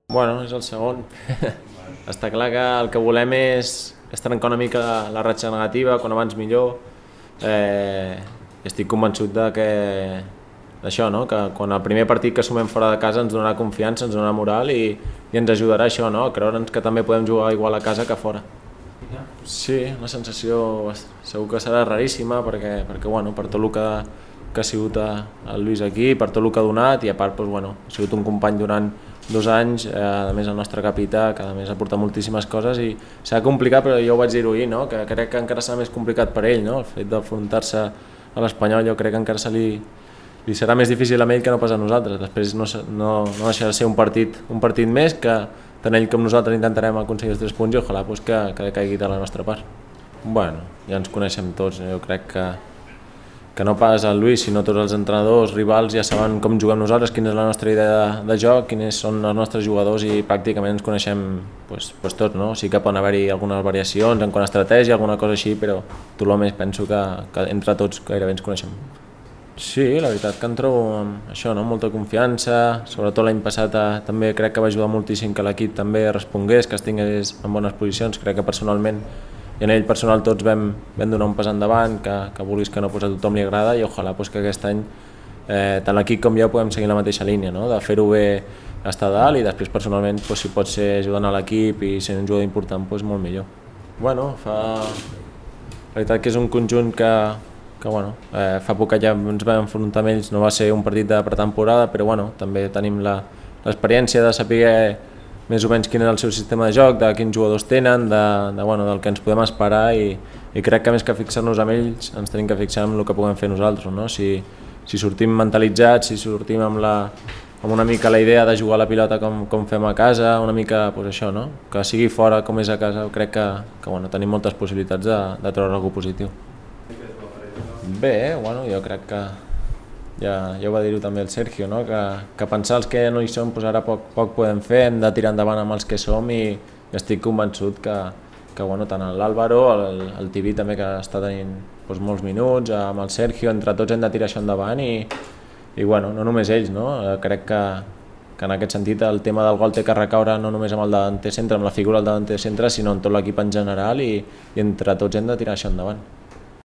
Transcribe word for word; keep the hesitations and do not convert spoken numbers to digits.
Bueno, és el segon. Està clar que el que volem és, és trencar una mica la ratxa negativa, quan abans millor. Eh, estic convençut de que d'això, no? Que quan el primer partit que sumem fora de casa ens donarà confiança, ens donarà moral i, i ens ajudarà això, no? A creure'ns que també podem jugar igual a casa que a fora. Sí, una sensació segur que serà raríssima perquè, perquè bueno, per tot el que, que ha sigut el Lluís aquí, per tot el que ha donat i a part doncs, bueno, ha sigut un company durant dos anys, eh, a més el nostre capità, que a més ha portat moltíssimes coses i serà complicat, però jo ho vaig dir-ho ahir, no? Que crec que encara serà més complicat per ell, no? El fet d'enfrontar-se a l'Espanyol jo crec que encara se li, li serà més difícil a ell que no pas a nosaltres. Després no, no, no deixarà de ser un partit, un partit més que tant ell com nosaltres intentarem aconseguir els tres punts i ojalà pues, que, que caigui de la nostra part. Bueno, ja ens coneixem tots, jo crec que que no pas el Lluís, sinó tots els entrenadors, rivals, ja saben com juguem nosaltres, quina és la nostra idea de, de joc, quins són els nostres jugadors i pràcticament ens coneixem pues, pues tots, no? Sí que poden haver-hi algunes variacions en quant a estratègia, alguna cosa així, però tot el més penso que, que entre tots gairebé ens coneixem. Sí, la veritat que em trobo amb això, no? Molta confiança, sobretot l'any passat eh, també crec que va ajudar moltíssim que l'equip també respongués, que estigués en bones posicions, crec que personalment i en ell personal tots vam, vam donar un pas endavant, que, que vulguis que no pues, a tothom li agrada i ojalà pues, que aquest any eh, tant l'equip com jo podem seguir la mateixa línia, no? De fer-ho bé estar dalt i després personalment pues, si pot ser ajudant a l'equip i ser un jugador important, pues, molt millor. Bueno, fa... La veritat que és un conjunt que, que bueno, eh, fa poc que ja ens vam enfrontar amb ells, no va ser un partit de pretemporada, però bueno, també tenim l'experiència de saber més o menys quin és el seu sistema de joc, de quins jugadors tenen, de, de, bueno, del que ens podem esperar i, i crec que més que fixar-nos amb ells ens tenim que fixar en el que puguem fer nosaltres. No? Si, si sortim mentalitzats, si sortim amb, la, amb una mica la idea de jugar a la pilota com, com fem a casa, una mica pues això, no? Que sigui fora com és a casa, crec que, que bueno, tenim moltes possibilitats de, de treure alguna cosa positiu. Bé, bueno, jo crec que ja, ja ho va dir-ho també el Sergio, no? que, que pensar els que no hi som pues ara poc, poc podem fer, hem de tirar endavant amb els que som i, i estic convençut que, que bueno, tant l'Àlvaro, el, el Tibi també que està tenint pues, molts minuts, amb el Sergio, entre tots hem de tirar això endavant i, i bueno, no només ells, no? Crec que, que en aquest sentit el tema del gol té que recaure no només amb el davanter centre, amb la figura del davanter centre, sinó en tot l'equip en general i, i entre tots hem de tirar això endavant.